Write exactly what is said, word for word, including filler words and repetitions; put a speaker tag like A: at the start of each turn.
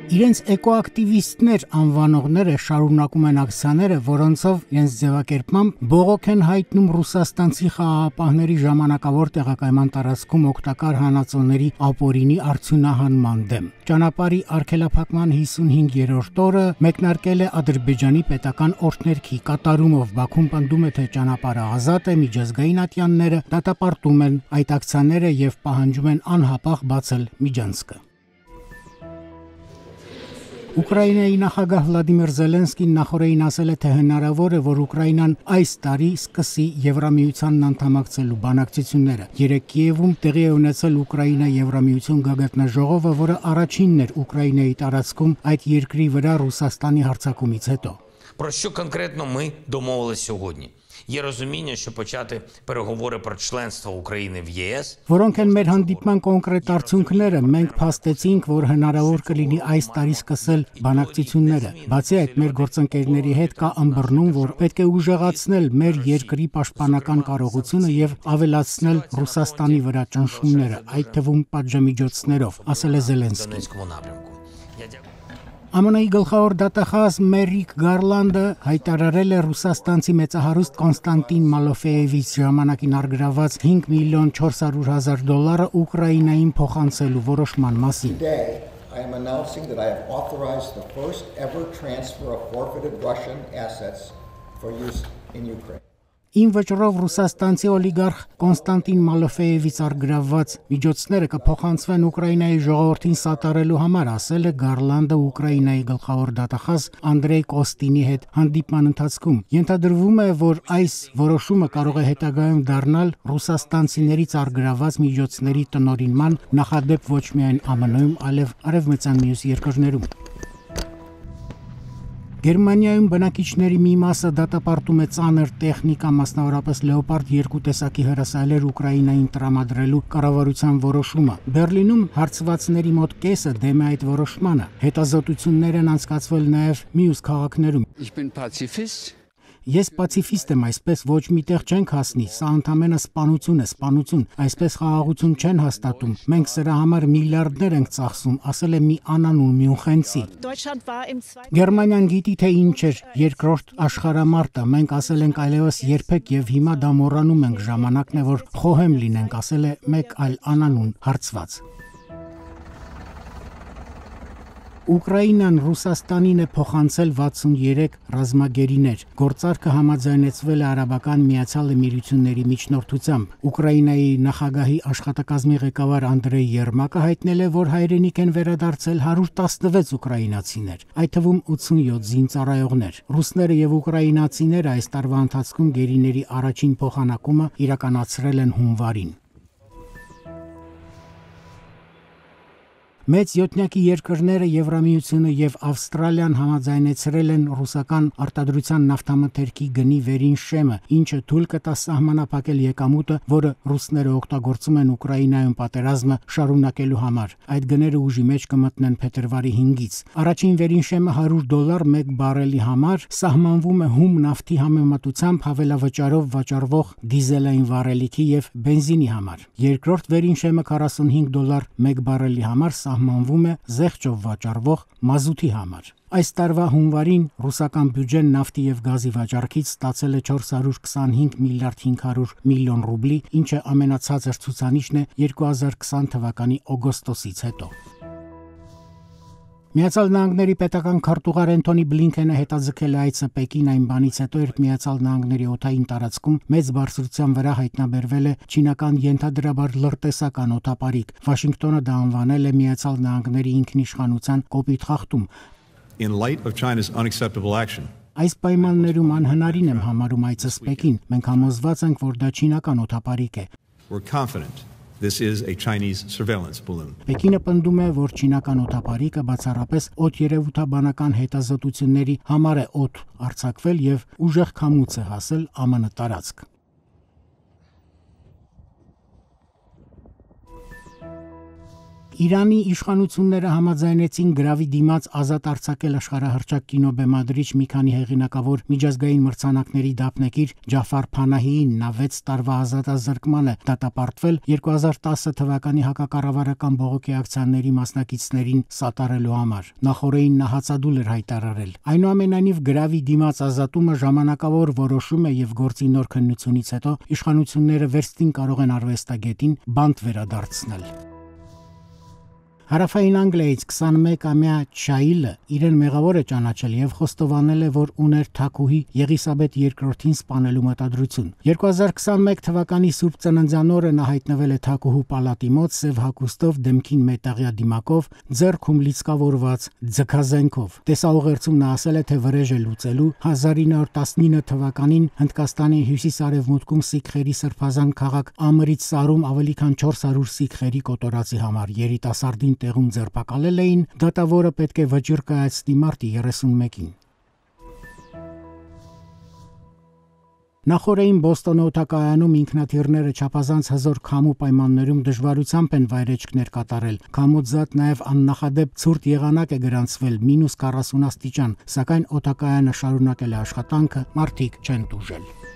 A: Իրենց էկոակտիվիստներ անվանողները շարունակում են ակցիաները, որոնցով իրենց ձևակերպմամբ բողոք են հայտնում ռուսաստանցի խաղաղապահների ժամանակավոր տեղակայման տարածքում օգտակար հանածոների ապօրինի արդյունահանման դեմ։ Ճանապարհի արգելափակման հիսունհինգերորդ օրը մեկնարկել է Ադրբեջանի պետական օրդներքի կատարումով։ Բաքուն պնդում է, թե ճանապարհը ազատ է, միջազգային ատյանները դատապարտում են այդ ակցիաները եւ պահանջում են անհապաղ բացել միջանցքը։ Ուկրաինայի նախագահ Վլադիմիր Զելենսկին նախորդին ասել է, թե հնարավոր է, որ Ուկրաինան այս տարի սկսի Եվրամիությանն անդամակցելու բանակցությունները։ Երեկ Կիևում տեղի է ունեցել Ուկրաինա-Եվրամիություն գագաթնաժողովը, որը առաջինն էր Ուկրաինայի տարածքում այդ երկրի վրա Ռուսաստանի հարձակումից հետո։
B: Про що конкретно ми домовились сьогодні? Є розуміння, що почати переговори про членство України в ЄС.
A: Որոնք են մեր հանդիպման կոնկրետ արդյունքները, մենք փաստեցինք, որ հնարավոր կլինի այս տարի սկսել բանակցությունները։ Բացի այդ, մեր գործընկերների հետ կա ըմբռնում, որ պետք է ուժեղացնել մեր երկրի պաշտպանական կարողությունը եւ ավելացնել Ռուսաստանի վրա ճնշումները, այդ թվում պատժամիջոցներով, ասել է Զելենսկին։ ԱՄՆ-ի գլխավոր դատախազ Մերիք Գարլանդը հայտարարել է ռուսաստանցի մեծահարուստ Կոնստանտին Մալոֆեևից ժամանակին առգրաված հինգ միլիոն չորս հարյուր հազար դոլարը Ուկրաինային փոխանցելու որոշման մասին։
C: I am announcing that I have authorized the first ever transfer of forfeited Russian assets for use in Ukraine.
A: Ին վճռով ռուսաստանցի օլիգարխ Կոնստանտին Մալոֆեևից առգրավված միջոցները կփոխանցվեն Ուկրաինայի ժողովրդին սատարելու համար, ասել է Գարլանդը Ուկրաինայի գլխավոր դատախազ Անդրեյ Կոստինի հետ հանդիպման ընթացքում։ Ենթադրվում է, որ այս որոշումը կարող է հետագայում դառնալ ռուսաստանցիներից առգրավված միջոցների տնօրինման նախադեպ ոչ միայն ԱՄՆ-ում, այլև արևմտյան մյուս երկրներում։ Գերմանիայում բնակիչների մի մասը դատապարտում է ծանր տեխնիկա, մասնավորապես Լեոպարդ երկու տեսակի հրասայլեր Ուկրաինային տրամադրելու կառավարության որոշումը։ Բերլինում հարցվածների մոտ կեսը դեմ է այդ որոշմանը։ Հետազոտություններ են անցկացվել նաև մյուս քաղաքներում։
D: Ich bin Pazifist.
A: Ես պացիֆիստ եմ, այսպես ոչ միտեղ չենք հասնի, սա ընդամենը սպանություն է, սպանություն, այսպես խաղաղություն չեն հաստատում, մենք սրա համար միլիարդներ ենք ծախսում, ասել է մի անանուն Մյունխենցի։ Գերմանիան գիտի, թե ինչ էր երկրորդ աշխարհամարտը, մենք ասել ենք այլևս երբեք եւ հիմա դա մոռանում ենք, ժամանակն է, որ խոհեմ լինենք, ասել է մեկ այլ անանուն հարցված։ Ուկրաինան Ռուսաստանին է փոխանցել վաթսուներեք ռազմագերիներ։ Գործարքը համաձայնեցվել է Արաբական Միացյալ Էմիրությունների միջնորդությամբ։ Ուկրաինայի նախագահի աշխատակազմի ղեկավար Անդրեյ Երմակը հայտնել է, որ հայրենիք են վերադարձել հարյուր տասնվեց ուկրաինացիներ, այդ թվում ութսունյոթ զինծառայողներ։ Ռուսները եւ ուկրաինացիները այս տարվա ընթացքում գերիների առաջին փոխանակումը իրականացրել են հունվարին։ Մեծ յոթնյակի երկրները Եվրամիությունը եւ Ավստրալիան համաձայնեցրել են ռուսական արտադրության նավթամթերքի գնի վերին շեմը, ինչը թույլ կտա սահմանափակել եկամուտը, որը ռուսները օգտագործում են Ուկրաինայում պատերազմը շարունակելու համար։ Այդ գները ուժի մեջ կմտնեն փետրվարի հինգից։ Առաջին վերին շեմը հարյուր դոլար մեկ բարելի համար սահմանվում է հում նավթի համեմատությամբ հավելավճարով վաճառվող դիզելային վառելիքի եւ բենզինի համար։ Երկրորդ վերին շեմը քառասունհինգ դոլար մեկ բարելի համար սահմանվում է զեղչով վաճառվող մազութի համար։ Այս տարվա հունվարին ռուսական բյուջեն նավթի եւ գազի վաճառքից ստացել է չորս հարյուր քսանհինգ միլիարդ հինգ հարյուր միլիոն ռուբլի, ինչը ամենացածր ցուցանիշն է երկու հազար քսան թվականի օգոստոսից հետո։ Միացյալ Նահանգների պետական քարտուղար Էնթոնի Բլինքենը հետաձգել է այցը Պեկին այն բանից հետո, երբ Միացյալ Նահանգների օդային տարածքում մեծ բարձրության վրա հայտնաբերվել է չինական ենթադրաբար լրտեսական օդապարիկ։ Վաշինգտոնը դա անվանել է Միացյալ Նահանգների ինքնիշխանության կոպիտ խախտում։
E: In light of China's unacceptable action.
A: Այս պայմաններում անհնարին եմ համարում այցս Պեկին։ Մենք համոզված ենք, որ դա չինական օդապարիկ է։
E: We're confident this is a Chinese surveillance balloon.
A: Պեկինը պնդում է, որ չինական օդապարիկը բացառապես օդերևութաբանական հետազոտությունների համար է օդ արձակվել եւ ուժեղ քամուց է հասել ԱՄՆ տարածք։ Իրանի իշխանությունները համաձայնեցին գրավի դիմաց ազատ արձակել աշխարհահռչակ կինոբեմադրիչ մի քանի հեղինակավոր միջազգային մրցանակների դափնեկիր Ջաֆար Փանահիին նա վեց տարվա ազատազրկմանը դատապարտվել երկու հազար տասը թվականի հակակառավարական բողոքի ակցիաների մասնակիցներին սատարելու համար։ Նախորդին նա հացադուլ էր հայտարարել։ Այնուամենայնիվ գրավի դիմաց ազատումը ժամանակավոր որոշում է եւ գործի նոր քննությունից հետո իշխանությունները վերստին կարող են արվեստագետին բանտ վերադարձնել։ Հարավային Անգլիայից քսանմեկամյա Չայլը իրեն մեղավոր է ճանաչել եւ խոստովանել է, որ ուներ թագուհի Եղիսաբեթ երկրորդին սպանելու մտադրություն։ երկու հազար քսանմեկ թվականի Սուրբ Ծննդյան օրը նա հայտնվել է թագուհու պալատի մոտ սև հագուստով, դեմքին մետաղյա դիմակով, ձեռքում լիցքավորված ձգազենքով։ Տեսաուղերձում նա ասել է, թե վրեժ է լուծելու հազար ինը հարյուր տասնինը թվականին Հնդկաստանի հյուսիս-արևմուտքում սիկխերի սրբազան քաղաք Ամրիցսարում ավելի քան չորս հարյուր սիկխերի կոտորածի համար երիտասարդին տեղում ձերբակալել էին, դատավորը պետք է վճիռ կայացնի մարտի երեսունմեկին։ Նախորդին Բոստոնի օդակայանում ինքնաթիռները չափազանց հզոր քամու պայմաններում դժվարությամբ են վայրեջքներ կատարել։ Քամուց զատ նաև աննախադեպ ցուրտ եղանակ է գրանցվել մինուս քառասուն աստիճան, սակայն օդակայանը շարունակել է աշխատանքը, մարդիկ չեն տուժել։